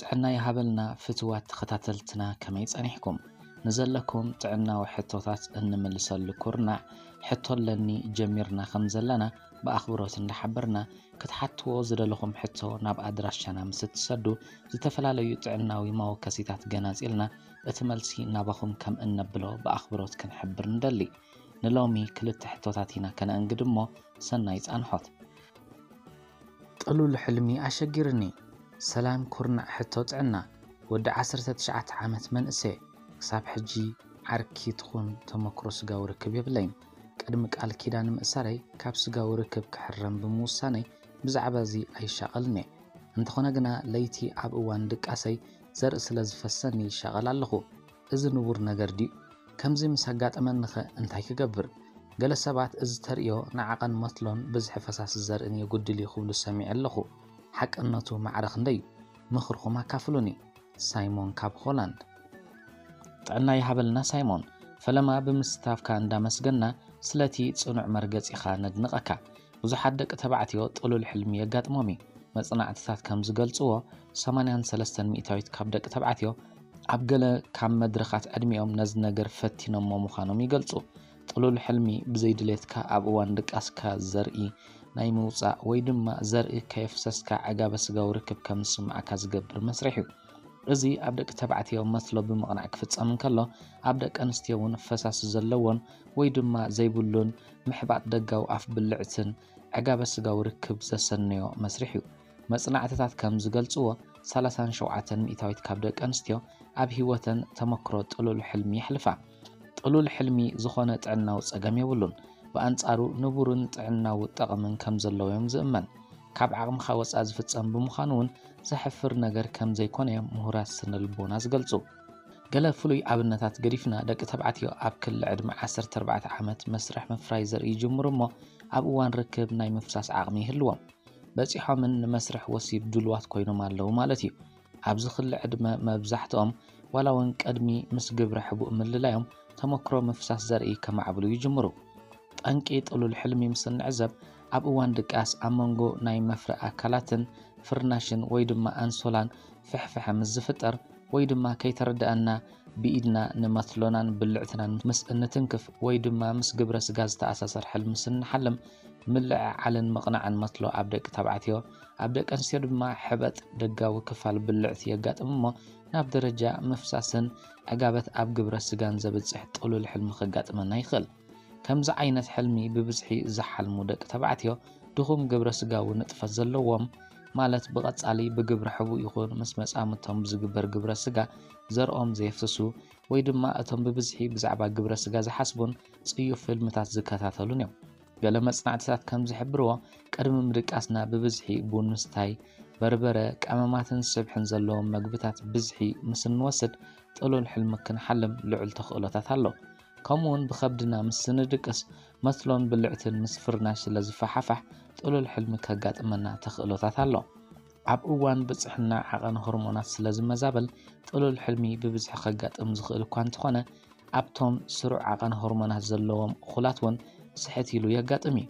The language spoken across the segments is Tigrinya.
ጥዕና ይሃበልና ፍትዋት ተኸታተልትና፣ ከመይ ጸኒሕኩም? ንዘለኩም ጥዕናዊ ሕቶታት እንምልሰሉ ኩርናዕ ሕቶ ኣለኒ ጀሚርና ከም ዘለና ብኣኽብሮት እንዳሓበርና፣ ክትሓትዎ ዝደለኹም ሕቶ ናብ ኣድራሻና ምስ እትሰዱ፣ ዝተፈላለዩ ጥዕናዊ መወከሲታት ገናጺልና እቲ መልሲ ናባኹም ከም እነብሎ ብኣኽብሮት ክንሕብር ንደሊ። ንሎሚ ክልተ ሕቶታት ኢና ከነእንግድ እሞ ሰናይ ጻንሖት። ጥሉል ሕልሚ ኣሸጊርኒ። ሰላም ኩርናዕ ሕቶ ጥዕና። ወዲ ዓሰርተ ትሽዓተ ዓመት መንእሰ፣ ክሳብ ሕጂ ዓርኪ ትኹን ተመክሮ ስጋዊ ርክብ የብለይን። ቅድሚ ቃል ኪዳን ምእሳረይ ካብ ስጋዊ ርክብ ክሕረም ብምውሳነይ ብዛዕባ እዚ ኣይሻቐልን እየ። እንተኾነ ግና ለይቲ ኣብ እዋን ድቃሰይ ዘርኢ ስለ ዝፈሰኒ ይሻቐል ኣለኹ። እዚ ንቡር ነገር ድዩ? ከምዚ ምስ ኣጋጠመኒኸ እንታይ ክገብር? ገለ ሰባት እዚ ተርእዮ ንዓቐን መትሎን ብዝሒ ፈሳሲ ዘርእን የጉድል እዩ ክብሉ ሰሚዐ ኣለኹ። ሓቅነቱ ማዕረ ክንደይ እዩ? ምኽርኹም ኣካፍሉኒ። ሳይሞን ካብ ሆላንድ። ጥዕና ይሃበልና ሳይሞን፣ ፈለማ ብምስታፍካ እንዳመስገና ስለቲ ጽኑዕ መርገጺኻ ነድንቐካ። ብዙሓት ደቂ ተባዕትዮ ጥሉል ሕልሚ የጋጥሞም እዩ። መጽናዕትታት ከም ዝገልጽዎ፣ ሰማንያን ሰለስተን ሚእታዊት ካብ ደቂ ተባዕትዮ ኣብ ገለ ካብ መድረኻት ዕድሚኦም ነዚ ነገር ፈቲኖሞ ምዃኖም ይገልጹ። ጥሉል ሕልሚ ብዘይድሌትካ ኣብ እዋን ድቃስካ ዘርኢ ናይ ምውጻእ ወይ ድማ ዘርኢ ከየፍሰስካ ዕጋበ ስጋዊ ርክብ ከም ዝስምዓካ ዝገብር መስርሕ እዩ። እዚ ኣብ ደቂ ተባዕትዮ መትሎ ብምቕናዕ ክፍጸም እንከሎ፣ ኣብ ደቂ ኣንስትዮ እውን ፈሳሲ ዘለዎን ወይ ድማ ዘይብሉን ምሕባጥ ደጋዊ ኣፍ ብልዕትን ዕጋበ ስጋዊ ርክብ ዘሰነዮ መስርሕ እዩ። መጽናዕትታት ከም ዝገልጽዎ፣ ሰላሳን ሸውዓተን ሚእታዊት ካብ ደቂ ኣንስትዮ ኣብ ህይወተን ተመክሮ ጥሉል ሕልሚ የሕልፋ። ጥሉል ሕልሚ ዝኾነ ጥዕናዊ ጸገም የብሉን። ብኣንጻሩ ንቡርን ጥዕናዊ ጠቕምን ከም ዘለዎ እዮም ዝእመን። ካብ ዓቕምኻ ወጻኢ ዝፍጸም ብምዃኑ እውን ዘሕፍር ነገር ከም ዘይኮነ እዮም ምሁራት ስነ ልቦና ዝገልጹ። ገለ ፍሉይ ኣብነታት ገዲፍና፣ ደቂ ተባዕትዮ ኣብ ክሊ ዕድመ ዓሰርተ ኣርባዕተ ዓመት መስርሕ ምፍራይ ዘርኢ ይጅምሩ እሞ፣ ኣብ እዋን ርክብ ናይ ምፍሳስ ዓቕሚ ይህልዎም። በጺሖምን ንመስርሕ ወሲብ ድሉዋት ኮይኖም ኣለዉ ማለት እዩ። ኣብዚ ክሊ ዕድመ መብዛሕትኦም ዋላ እውን ቅድሚ ምስ ግብረ ሕቡእ ምልላዮም ተመክሮ ምፍሳስ ዘርኢ ከማዕብሉ ይጅምሩ። ጠንቂ ጥሉል ሕልሚ ምስ እንዕዘብ፣ ኣብ እዋን ድቃስ ኣብ መንጎ ናይ መፍረ ኣካላትን ፍርናሽን ወይ ድማ ኣንሶላን ፍሕፍሐ ምስ ዝፍጠር ወይ ድማ ከይተረድኣና ብኢድና ንመትሎናን ብልዕትናን ምስ እንትንክፍ ወይ ድማ ምስ ግብረ ስጋ ዝተኣሳሰር ሕልሚ ስንሓልም፣ ምልዕዓልን ምቕናዕን መትሎ ኣብ ደቂ ተባዕትዮ፣ ኣብ ደቂ ኣንስትዮ ድማ ሕበጥ ደጋዊ ክፋል ብልዕቲ የጋጥም እሞ ናብ ደረጃ ምፍሳስን ዕጋበት ኣብ ግብረ ስጋን ዘብጽሕ ጥሉል ሕልሚ ከጋጥመና ይኽእል። ከምዚ ዓይነት ሕልሚ ብብዝሒ ዝሓልሙ ደቂ ተባዕትዮ ድኹም ግብረ ስጋዊ ንጥፈት ዘለዎም፣ ማለት ብቐጻሊ ብግብረ ሕቡእ ይኹን ምስ መጻምድቶም ብዝግበር ግብረ ስጋ ዘርኦም ዘየፍስሱ ወይ ድማ እቶም ብብዝሒ ብዛዕባ ግብረ ስጋ ዝሓስቡን ጽዩፍ ፊልምታት ዝከታተሉን እዮም። ገለ መጽናዕትታት ከም ዝሕብርዎ፣ ቅድሚ ምድቃስና ብብዝሒ ቡን ምስታይ፣ በርበረ፣ ቀመማትን ስብሕን ዘለዎም መግብታት ብዝሒ ምስ እንወስድ፣ ጥሉል ሕልሚ ክንሓልም ልዑል ተኽእሎታት ኣሎ። ከምኡውን ብኸብድና ምስ ስንድቅስ፣ መትሎን ብልዕትን ምስ ፍርናሽ ስለ ዝፈሓፋሕ፣ ጥሉል ሕልሚ ከጋጥመና ተኽእሎታት ኣሎ። ኣብ እዋን ብጽሕና ዓቐን ሆርሞናት ስለ ዝመዛበል፣ ጥሉል ሕልሚ ብብዝሒ ከጋጥም ዝኽእል እኳ እንተኾነ፣ ኣብቶም ስሩዕ ዓቐን ሆርሞናት ዘለዎም እኹላት እውን ስሕት ኢሉ የጋጥም እዩ።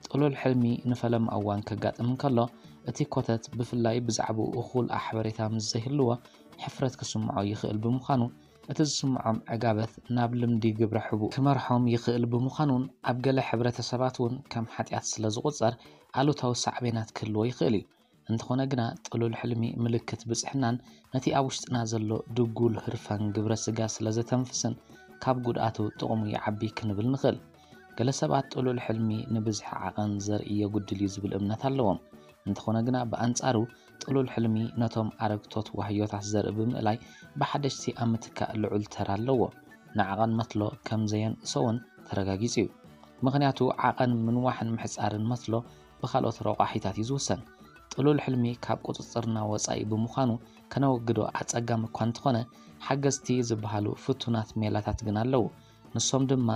ጥሉል ሕልሚ ንፈለማ እዋን ከጋጥም እንከሎ፣ እቲ ኮተት ብፍላይ ብዛዕባኡ እኹል ሓበሬታ ምስ ዘይህልዎ፣ ሕፍረት ክስምዖ ይኽእል ብምዃኑ፣ እቲ ዝስምዖም ዕጋበት ናብ ልምዲ ግብረ ሕቡእ ክመርሖም ይኽእል ብምዃኑን፣ ኣብ ገለ ሕብረተሰባት እውን ከም ሓጢኣት ስለ ዝቑጸር፣ ኣሉታዊ ሳዕቤናት ክህልዎ ይኽእል እዩ። እንተኾነ ግና፣ ጥሉል ሕልሚ ምልክት ብጽሕናን ነቲ ኣብ ውሽጥና ዘሎ ድጉል ህርፋን ግብረ ስጋ ስለ ዘተንፍስን፣ ካብ ጉድኣቱ ጥቕሙ ይዓቢ ክንብል ንኽእል። ገለ ሰባት ጥሉል ሕልሚ ንብዝሒ ዓቐን ዘርኢ የጉድል እዩ ዝብል እምነት ኣለዎም። እንተኾነ ግና፣ ብኣንጻሩ ጥሉል ሕልሚ ነቶም ኣረግቶት ዋህዮታት ዘርኢ ብምእላይ ብሓደሽቲ ኣብ ምትካእ ልዑል ተራ ኣለዎ። ንዓቐን መትሎ ከም ዘየንእሶ እውን ተረጋጊጹ እዩ። ምኽንያቱ፣ ዓቐን ምንዋሕን ምሕጻርን መትሎ ብኻልኦት ረቋሒታት እዩ ዝውሰን። ጥሉል ሕልሚ ካብ ቁጽጽርና ወጻኢ ብምዃኑ፣ ከነወግዶ ኣጸጋሚ እኳ እንተኾነ፣ ሓገዝቲ ዝበሃሉ ፍቱናት ሜላታት ግን ኣለዉ። ንሶም ድማ፣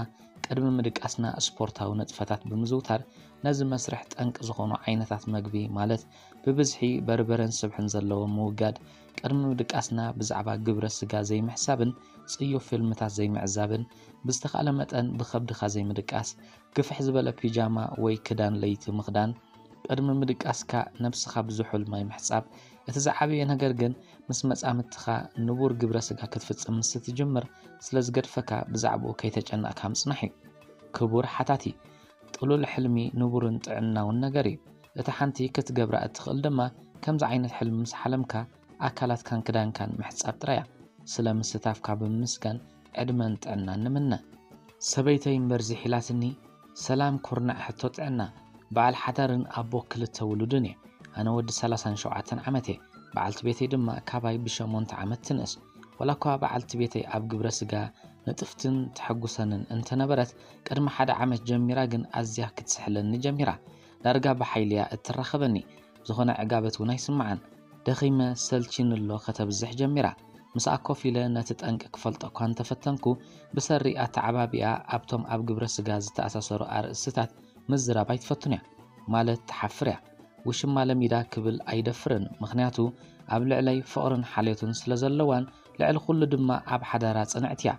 ቅድሚ ምድቃስና ስፖርታዊ ንጥፈታት ብምዝውታር፣ ነዚ መስርሕ ጠንቂ ዝኾኑ ዓይነታት መግቢ፣ ማለት ብብዝሒ በርበረን ስብሕን ዘለዎም ምውጋድ፣ ቅድሚ ምድቃስና ብዛዕባ ግብረ ስጋ ዘይምሕሳብን ጽዩፍ ፊልምታት ዘይምዕዛብን፣ ብዝተኻእለ መጠን ብኸብድኻ ዘይምድቃስ፣ ግፍሕ ዝበለ ፒጃማ ወይ ክዳን ለይቲ ምኽዳን፣ ቅድሚ ምድቃስካ ነብስኻ ብዝሑል ማይ ምሕጻብ፣ እቲ ዝዓበየ ነገር ግን ምስ መጻምድትኻ ንቡር ግብረ ስጋ ክትፍጽም ምስ ትጅምር ስለ ዝገድፈካ ብዛዕባኡ ከይተጨነቕካ ምጽናሕ እዩ። ክቡር ሓታቲ፣ ጥሉል ሕልሚ ንቡርን ጥዕናውን ነገር እዩ። እቲ ሓንቲ ክትገብራ እትኽእል ድማ ከምዚ ዓይነት ሕልሚ ምስ ሓለምካ ኣካላትካን ክዳንካን ምሕጻብ ጥራይ እያ። ስለ ምስታፍካ ብምምስጋን ዕድመን ጥዕናን ንምነ። ሰበይተይ እምበር ዝሒላትኒ ሰላም ኩርናዕ ሕቶ ጥዕና፣ በዓል ሓዳርን ኣቦ ክልተ ውሉድን እየ። ኣነ ወዲ ሰላሳን ሸውዓተን ዓመት እየ። በዓልቲ ቤተይ ድማ ካባይ ብሸሞንተ ዓመት ትንእስ። ዋላ እኳ በዓልቲ ቤተይ ኣብ ግብረ ስጋ ንጥፍትን ተሐጉሰንን እንተነበረት፣ ቅድሚ ሓደ ዓመት ጀሚራ ግን ኣዝያ ክትስሕለኒ ጀሚራ። ዳርጋ ብሓይሊ እያ እትራኸበኒ። ዝኾነ ዕጋበት እውን ኣይስምዓን። ደኺመ ሰልቺኒ ኣሎ ከተብዝሕ ጀሚራ። ምስኣ ኮፍ ኢለ ነቲ ጠንቂ ክፈልጦ እኳ እንተፈተንኩ፣ ብሰሪ ኣተዓባቢኣ ኣብቶም ኣብ ግብረ ስጋ ዝተኣሳሰሩ ኣርእስትታት ምዝራብ ኣይትፈቱን እያ። ማለት ትሓፍር እያ። ውሽማ ለሚዳ ክብል ኣይደፍርን፣ ምኽንያቱ ኣብ ልዕለይ ፍቕርን ሓልዮትን ስለ ዘለዋን ልዕሊ ኩሉ ድማ ኣብ ሓዳራ ጽንዕቲ እያ።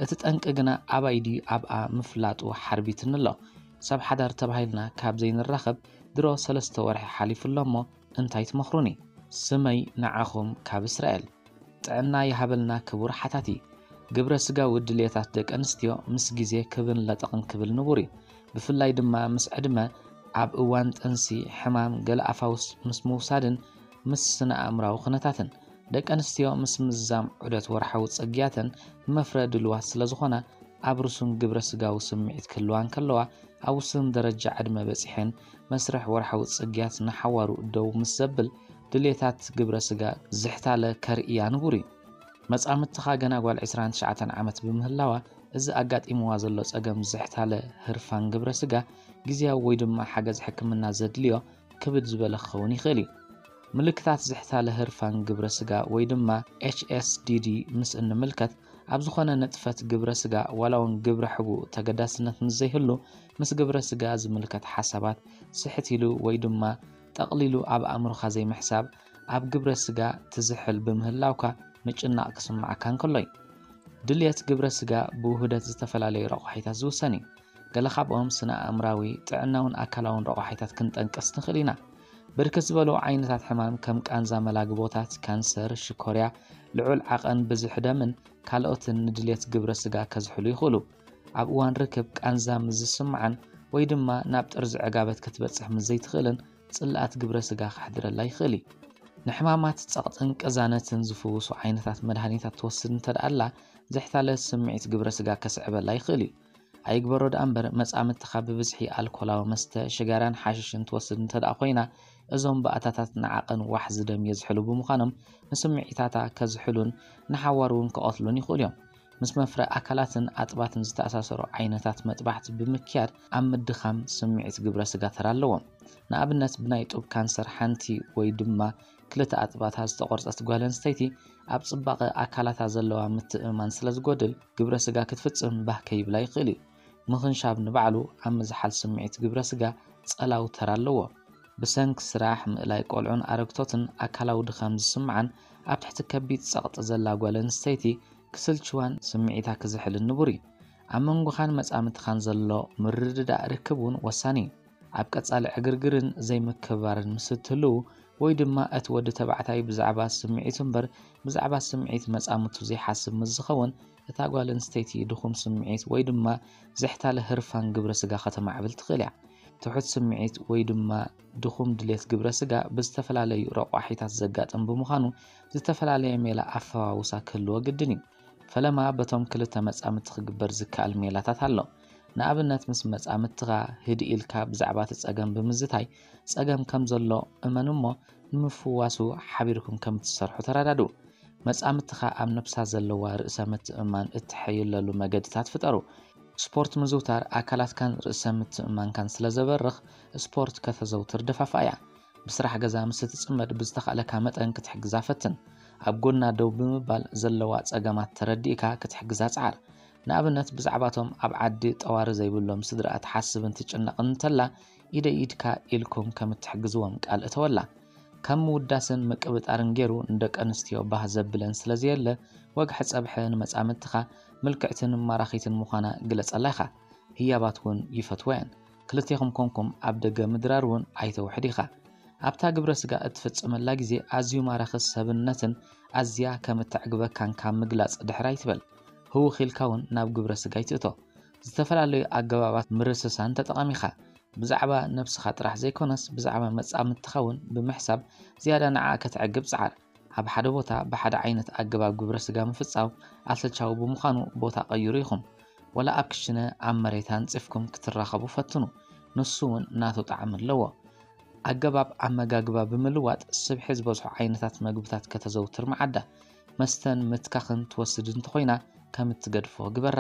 እቲ ጠንቂ ግና ኣባይ ድዩ ኣብኣ ምፍላጡ ሓርቢትኒ ኣሎ። ሰብ ሓዳር ተባሂልና ካብ ዘይንራኸብ ድሮ ሰለስተ ወርሒ ሓሊፉ ኣሎ እሞ እንታይ ትመኽሩኒ? ስመይ ንዓኹም ካብ እስራኤል። ጥዕና ይሃበልና ክቡር ሓታቲ። ግብረ ስጋዊ ድልየታት ደቂ ኣንስትዮ ምስ ግዜ ክብን ለጠቕን ክብል ንቡር እዩ። ብፍላይ ድማ ምስ ዕድመ፣ ኣብ እዋን ጥንሲ፣ ሕማም፣ ገለ ኣፋውስ ምስ ምውሳድን ምስ ስነ ኣእምራዊ ኩነታትን። ደቂ ኣንስትዮ ምስ ምዝዛም ዑደት ወርሓዊ ጽግያተን ንመፍረ ድልዋት ስለ ዝኾና፣ ኣብ ርሱን ግብረ ስጋዊ ስምዒት ክህልዋ እንከለዋ፣ ኣብ ውሱን ደረጃ ዕድመ በጺሐን መስርሕ ወርሓዊ ጽግያት ንሓዋሩ ደው ምስ ዘብል፣ ድልየታት ግብረ ስጋ ዝሕታለ ከርእያ ንቡር እዩ። መጻምድትኻ ገና ጓል ዕስራን ትሽዓተን ዓመት ብምህላዋ፣ እዚ ኣጋጢምዋ ዘሎ ጸገም ዝሕታለ ህርፋን ግብረ ስጋ ግዝያዊ ወይ ድማ ሓገዝ ሕክምና ዘድልዮ ክብድ ዝበለ ክኸውን ይኽእል እዩ። ምልክታት ዝሕታለ ህርፋን ግብረ ስጋ ወይ ድማ ኤች ኤስ ዲ ዲ ምስ እንምልከት፣ ኣብ ዝኾነ ንጥፈት ግብረ ስጋ ዋላ እውን ግብረ ሕቡእ ተገዳስነት ምስ ዘይህሉ፣ ምስ ግብረ ስጋ ዝምልከት ሓሳባት ስሕት ኢሉ ወይ ድማ ጠቕሊሉ ኣብ ኣእምሮኻ ዘይምሕሳብ፣ ኣብ ግብረ ስጋ ትዝሕል ብምህላውካ ምጭናቕ ክስምዓካ እንከሎ እዩ። ድልየት ግብረ ስጋ ብውህደት ዝተፈላለዩ ረቋሒታት ዝውሰን እዩ። ገለ ካብኦም ስነ ኣእምራዊ፣ ጥዕናውን ኣካላውን ረቋሒታት ክንጠንቅስ ንኽእል ኢና። ብርክት ዝበሉ ዓይነታት ሕማም ከም ቃንዛ መላግቦታት፣ ካንሰር፣ ሽኮርያ፣ ልዑል ዓቐን ብዝሒ ደምን ካልኦትን ንድልየት ግብረ ስጋ ከዝሕሉ ይኽእሉ። ኣብ እዋን ርክብ ቃንዛ ምስ ዝስምዓን ወይ ድማ ናብ ጥርዚ ዕጋበት ክትበጽሕ ምስ ዘይትኽእልን ጽልኣት ግብረ ስጋ ከሕድረላ ይኽእል እዩ። ንሕማማት ጸቕጥን ቅዛነትን ዝፍውሱ ዓይነታት መድሃኒታት ትወስድ እንተ ደኣ ኣላ፣ ዝሕታለ ስምዒት ግብረ ስጋ ከስዕበላ ይኽእል እዩ። ኣይግበሮ ደኣ እምበር፣ መጻምድትኻ ብብዝሒ ኣልኮላዊ መስተ፣ ሽጋራን ሓሽሽን ትወስድ እንተ ደኣ ኮይና፣ እዞም ባእታታት ንዓቐን ዋሕዚ ደም የዝሕሉ ብምዃኖም፣ ንስምዒታታ ከዝሕሉን ንሓዋሩ እውን ክቐትሉን ይኽእሉ እዮም። ምስ መፍረ ኣካላትን ኣጥባትን ዝተኣሳሰሩ ዓይነታት መጥባሕቲ ብምክያድ፣ ኣብ ምድኻም ስምዒት ግብረ ስጋ ተራ ኣለዎም። ንኣብነት፣ ብናይ ጡብ ካንሰር ሓንቲ ወይ ድማ ክልተ ኣጥባታ ዝተቖርጸት ጓል ኣንስተይቲ፣ ኣብ ጽባቐ ኣካላታ ዘለዋ ምትእምማን ስለ ዝጎድል፣ ግብረ ስጋ ክትፍጽም ባህ ከይብላ ይኽእል እዩ። ምኽንሻብ ንባዕሉ ኣብ ምዝሓል ስምዒት ግብረ ስጋ ጸላዊ ተራ ኣለዎ። ብሰንኪ ስራሕ፣ ምእላይ ቆልዑን ኣረግቶትን ኣካላዊ ድኻም ዝስምዓን ኣብ ትሕቲ ከቢድ ጸቕጢ ዘላ ጓል ኣንስተይቲ ክስልችዋን ስምዒታ ክዝሕልን ንቡር እዩ። ኣብ መንጎኻን መጻምድትኻን ዘሎ ምርድዳእ ርክብ እውን ወሳኒ እዩ። ኣብ ቀጻሊ ዕግርግርን ዘይምክብባርን ምስ እትህልዉ፣ ወይ ድማ እቲ ወዲ ተባዕታይ ብዛዕባ ስምዒቱ እምበር ብዛዕባ ስምዒት መጻምድቱ ዘይሓስብ ምስ ዝኸውን፣ እታ ጓል ኣንስተይቲ ድኹም ስምዒት ወይ ድማ ዝሕታለ ህርፋን ግብረ ስጋ ከተማዕብል ትኽእል እያ። ትሑት ስምዒት ወይ ድማ ድኹም ድሌት ግብረ ስጋ ብዝተፈላለዩ ረቋሒታት ዘጋጥም ብምዃኑ፣ ዝተፈላለየ ሜላ ኣፈዋውሳ ክህልዎ ግድን እዩ። ፈለማ በቶም ክልተ መጻምድቲ ክግበር ዝከኣል ሜላታት ኣሎ። ንኣብነት፣ ምስ መጻምድትኻ ህድእ ኢልካ ብዛዕባ እቲ ጸገም ብምዝታይ፣ ጸገም ከም ዘሎ እመን እሞ፣ ንምፍዋሱ ሓቢርኩም ከም እትሰርሑ ተረዳድኡ። መጻምድትኻ ኣብ ነብሳ ዘለዋ ርእሰ ምትእምማን እትሕይለሉ መገድታት ፍጠሩ። ስፖርት ምዝውታር ኣካላትካን ርእሰ ምትእምማንካን ስለ ዘበርኽ፣ ስፖርት ከተዘውትር ደፋፍኣያ። ብስራሕ ገዛ ምስ እትጽመድ፣ ብዝተኻእለካ መጠን ክትሕግዛ ፈትን። ኣብ ጎና ደው ብምባል ዘለዋ ጸገማት ተረዲእካ ክትሕግዛ ጽዓር። ንኣብነት፣ ብዛዕባቶም ኣብ ዓዲ ጠዋሪ ዘይብሎም ስድራኣ ትሓስብን ትጭነቕን እንተላ፣ ኢደይ ኢድካ ኢልኩም ከም እትሕግዝዎም ቃል እተወላ። ከም ምውዳስን ምቅብጣርን ገይሩ ንደቂ ኣንስትዮ ባህ ዘብለን ስለ ዘየለ፣ ወግሐ ጸብሐ ንመጻምድትኻ ምልክዕትን ማራኺትን ምዃና ግለጸላ ኢኻ። ህያባት እውን ይፈትዋ እየን። ክልቴኹም ኮንኩም ኣብ ደገ ምድራር እውን ኣይተውሕድ ኢኻ። ኣብታ ግብረ ስጋ እትፍጽመላ ግዜ ኣዝዩ ማራኺ ሰብነትን ኣዝያ ከም እተዕግበካን ካብ ምግላጽ ድሕር ኣይትበል። ህውኽ ኢልካ እውን ናብ ግብረ ስጋ ኣይትእቶ። ዝተፈላለዩ ኣገባባት ምርስሳን ተጠቐሚኻ ብዛዕባ ነብስኻ ጥራሕ ዘይኮነስ ብዛዕባ መጻምድትኻ እውን ብምሕሳብ ዝያዳ ንዓኣ ከተዕግብ ጽዓር። ኣብ ሓደ ቦታ ብሓደ ዓይነት ኣገባብ ግብረ ስጋ ምፍጻው ኣሰልቻዊ ብምዃኑ ቦታ ቀይሩ ኢኹም። ወላ ኣብ ክሽነ ኣብ መሬት ኣንጺፍኩም ክትራኸቡ ፈትኑ። ንሱ እውን ናቱ ጣዕሚ ኣለዎ። ኣገባብ ኣመጋግባ ብምልዋጥ ስብሒ ዝበዝሖ ዓይነታት መግብታት ከተዘውትር መዓዳ። መስተን ምትካኽን ትወስድ እንተኾይና ከም እትገድፎ ግበራ።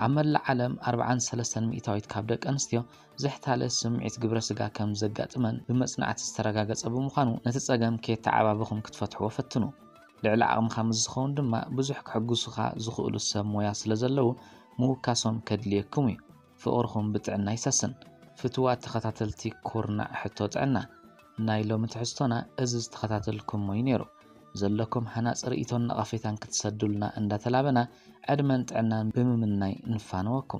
ኣብ መላእ ዓለም ኣርብዓን ሰለስተን ሚእታዊት ካብ ደቂ ኣንስትዮ ዝሕታለ ስምዒት ግብረ ስጋ ከም ዘጋጥመን ብመጽናዕቲ ዝተረጋገጸ ብምዃኑ ነቲ ጸገም ከየተዓባበኹም ክትፈትሕዎ ፈትኑ። ልዕሊ ዓቕምኻ ምስ ዝኸውን ድማ ብዙሕ ክሕግዙኻ ዝኽእሉ ሰብ ሞያ ስለ ዘለዉ ምውካሶም ከድልየኩም እዩ። ፍቕርኹም ብጥዕና ይሰስን። ፍትዋት ተኸታተልቲ ኩርናዕ ሕቶ ጥዕና፣ ናይ ሎሚ ትሕዝቶና እዚ ዝተኸታተልኩሞ እዩ ነይሩ። ዘለኩም ሃናጺ ርእይቶን ነቐፌታን ክትሰዱልና እንዳተላበና ዕድመን ጥዕናን ብምምናይ ንፋነወኩም።